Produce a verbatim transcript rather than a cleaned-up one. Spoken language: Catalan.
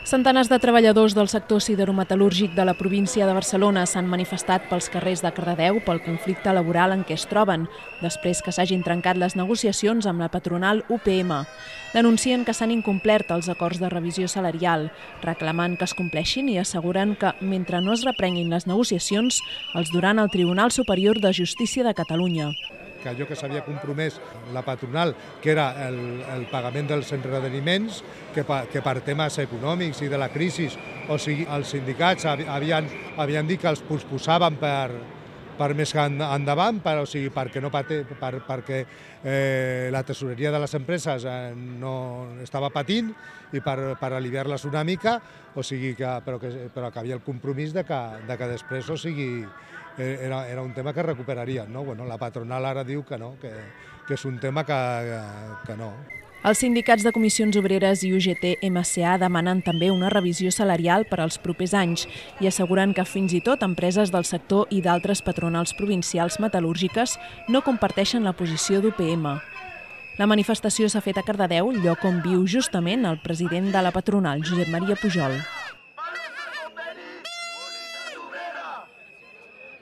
Centenars de treballadors del sector siderometal·lúrgic de la província de Barcelona s'han manifestat pels carrers de Cardedeu pel conflicte laboral en què es troben, després que s'hagin trencat les negociacions amb la patronal U P M. Denuncien que s'han incomplert els acords de revisió salarial, reclamant que es compleixin i asseguren que, mentre no es reprenguin les negociacions, els duran al Tribunal Superior de Justícia de Catalunya. Que allò que s'havia compromès la patronal, que era el, el pagament dels endarreriments, que, pa, que per temes econòmics i de la crisi, o sigui, els sindicats havien, havien dit que els posposaven per, per més endavant, per, o sigui, perquè, no pate, per, perquè eh, la tesoreria de les empreses eh, no estava patint i per, per aliviar-les una mica, o sigui que, però, que, però que havia el compromís de que, de que després, o sigui, Era, era un tema que recuperarien, no? Bueno, la patronal ara diu que no, que, que és un tema que, que no. Els sindicats de Comissions Obreres i U G T M C A demanen també una revisió salarial per als propers anys i asseguren que fins i tot empreses del sector i d'altres patronals provincials metal·lúrgiques no comparteixen la posició d'U P M. La manifestació s'ha fet a Cardedeu, lloc on viu justament el president de la patronal, Josep Maria Pujol.